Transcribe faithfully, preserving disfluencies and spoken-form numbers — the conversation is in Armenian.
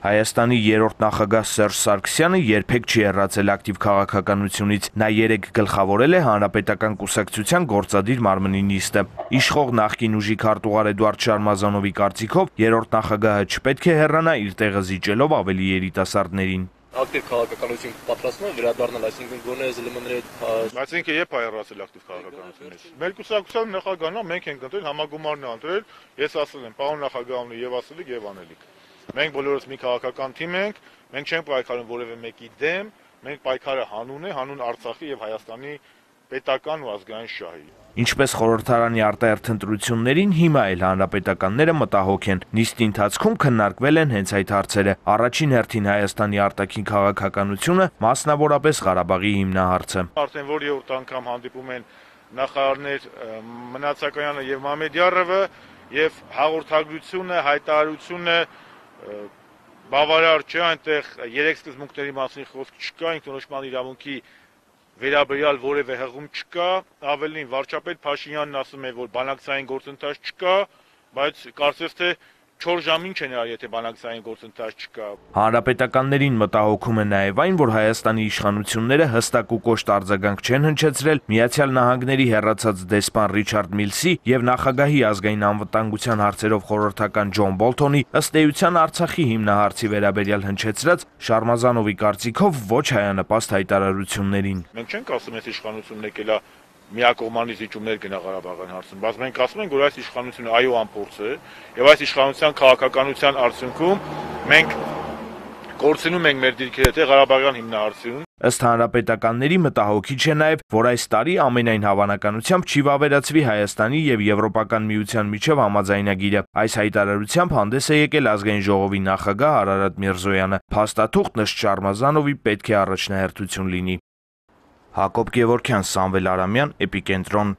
Հայաստանի երրորդ նախագահ Սերժ Սարգսյանը երբեք չի հեռացել ակտիվ քաղաքականությունից, նա երեկ գլխավորել է Հանրապետական կուսակցության գործադիր մարմնի նիստը։ Իշխող նախկին ուժի քարտուղար Էդուարդ Շարմազանովի կարծիքով երրորդ նախագահը չպետք է հեռանա իր տեղը զիջելով ավելի երիտասարդներին։ Ակտիվ քաղաքականություն պատրաստվում է վերադառնալ, այսինքն գոնե ԶԼՄ-ների հետ։ Այսինքն երբ է հեռացել ակտիվ քաղաքականությունից։ Մեր կուսակցության նախագահն է, մենք ենք ընտրել, համագումարն է ընտրել, ես ասել եմ, պարոն նախագահն է եւ ասելիք եւ անելիք։ Մենք բոլորս մի քաղաքական թիմ ենք, մենք չենք պայքարում որևէ մեկի դեմ, մենք պայքարը հանուն է, հանուն Արցախի եւ Հայաստանի պետական ու ազգային շահի։ Ինչպես խորհրդարանի արտահերթ ընտրություններին, հիմա էլ հանրապետականները մտահոգ են։ Նիստի ընթացքում քննարկվել են հենց այդ հարցերը։ Առաջին հերթին Հայաստանի արտաքին քաղաքականությունը, մասնավորապես Ղարաբաղի հիմնահարցը։ Արդեն որ երրորդ անգամ հանդիպում են նախարարներ Մնացականյանը եւ Մամեդյարովը եւ հաղորդագրությունը, հայտարարությունը բավարար չէ, այնտեղ երեք սկզբունքների մասին խոսք չկա, ինքնորոշման իրավունքի վերաբերյալ որևէ հղում չկա, ավելին վարչապետ Փաշինյանն ասում է, որ բանակցային գործընթաց չկա, բայց կարծես թե չորս ժամ ինչ են արել, եթե բանակցային գործընթաց չկա։ Հանրապետականներին մտահոգում է նաև այն, որ Հայաստանի իշխանությունները հստակ ու կոշտ արձագանք չեն հնչեցրել Միացյալ Նահանգների հեռացած դեսպան Ռիչարդ Միլսի եւ նախագահի ազգային անվտանգության հարցերով խորհրդական Ջոն Բոլթոնի ըստ էության Արցախի հիմնահարցի վերաբերյալ հնչեցրած Շարմազանովի կարծիքով ոչ հայանպաստ հայտարարություններին։ Մենք չենք ասում, այս իշխանությունն եկել է միակողմանի զիջումներ գնա Ղարաբաղյան հարցում, բայց մենք ասում ենք, որ այս իշխանությունը այո անփորձ է եւ այս իշխանության քաղաքականության արդյունքում մենք կորցնում ենք մեր դիրքերը թե Ղարաբաղյան հիմնահարցում։ Ըստ հանրապետականների մտահոգիչ է նաև, որ այս տարի ամենայն հավանականությամբ չի վավերացվի Հայաստանի եւ Եվրոպական միության միջև համաձայնագիրը։ Այս հայտարարությամբ հանդես է եկել ազգային ժողովի նախագահ Արարատ Միրզոյանը։ Փաստաթուղթն ըստ Շարմազանովի պետք է առաջնահերթություն լինի։ Հակոբ Գևորգյան, Սամվել Արամյան, Էպիկենտրոն։